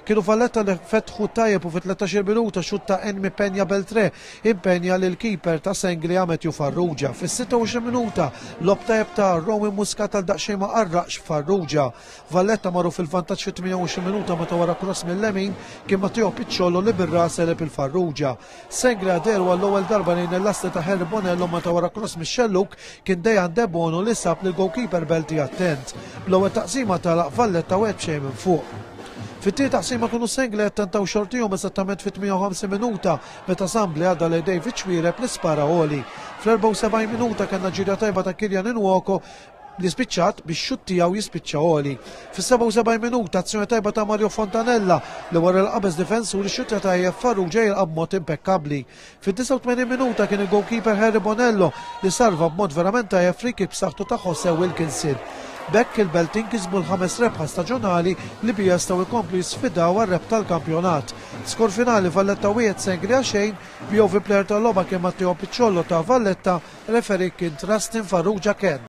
Kienu Valletta li fetħu tajjeb u fit-13-il minuta xutt ta' Enmi Peña Beltré impenja lill-keeper ta' Senglia Matthew Farrugia. Fis-26 minuta lob tajjeb ta' Rowan Muscat għal daqsxejn ma qarraqx Farrugia. Valletta marru fil-vantaġġ fit-28 minuta meta wara cross mil-lemin kien Matteo Picciolo li bir-ras għeleb il-Farrugia. Senglia dehru għall-ewwel darba lejn il-lasti ta' Harry Bonello meta wara cross mix-xellug kien Dejan Debono li sab lill-goalkeeper Belti attent. Bl-ewwel taqsima tagħlaq Valletta wieħed b'xejn minn fuq. Fit-tieni taqsima kienu Sengli attentaw xortihom eżattament fit-58 minuta meta Sambli għadda lejn David Xuereb li spara għoli. Fl-74 minuta kellna ġirja tajba ta' Kylian Nwoko li spiċċat biex xutt tiegħu jispiċċa għoli. Fis-77 minuta azzjoni tajba ta' Mario Fontanella li wara l-qabeż difensur ixxuttja tajjeb Farrugia jilqa' b'mod impekkabbli. Fid-89 minuta kien il-goalkeeper Harry Bonello li salva b'mod verament tajjeb free kick b'saħħtu ta' Jose Wilkinson. B'hekk il-Beltin kisbu l-ħames rebħa staġonali li biha jistgħu jkomplu jisfidaw għar-rebħ tal-kampjonat. Skor finali Valletta 1 Sengria xejn, BOV player tal-logħba kien Matteo Picciollo ta' Valletta, referee kien Trustin Farrugia Ken.